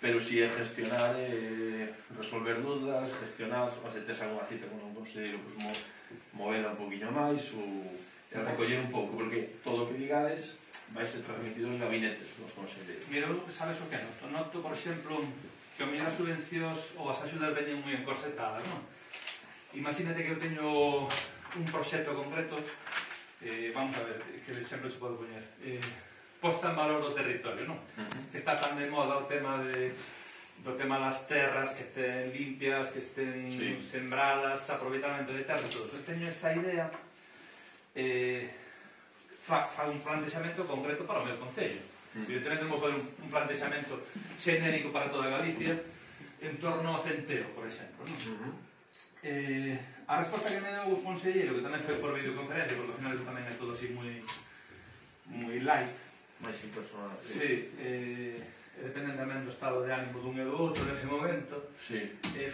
pero si é gestionar, resolver dúdas, gestionar, se tes alguna cita con un conselleiro, pues, movela un poquinho máis ou recoller un pouco, porque todo o que digades vai ser transmitido aos gabinetes dos conselleiros. Mira, sabes o que noto? Noto, por exemplo, que o mellor as subvencións ou as axudas veñen moi encorsetadas, non? Imagínate que eu teño un proxecto concreto, vamos a ver, que exemplo se pode poñer, posta en valor do territorio, non? Que está tan de moda o tema das terras, que estén limpias, que estén sembradas, aproveitamento de terras e todo. Eu teño esa idea, fa un plantexamento concreto para o meu concello. Evidentemente non vou fazer un plantexamento xenérico para toda Galicia en torno ao centeo, por exemplo, non? A resposta que me deu o conselleiro, que tamén foi por videoconferencia, porque ao final tamén é todo así moi light, máis impersonal. Sí, dependen tamén do estado de ánimo dun e do outro nese momento.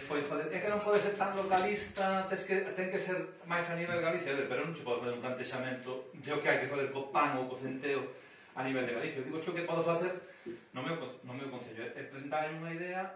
Foi, joder, é que non pode ser tan localista, ten que ser máis a nivel Galicia, pero non se pode fazer un plantexamento de o que hai que fazer co PAN ou co centeo a nivel de Galicia. Digo, xo que podo facer no meu concello, é presentar unha idea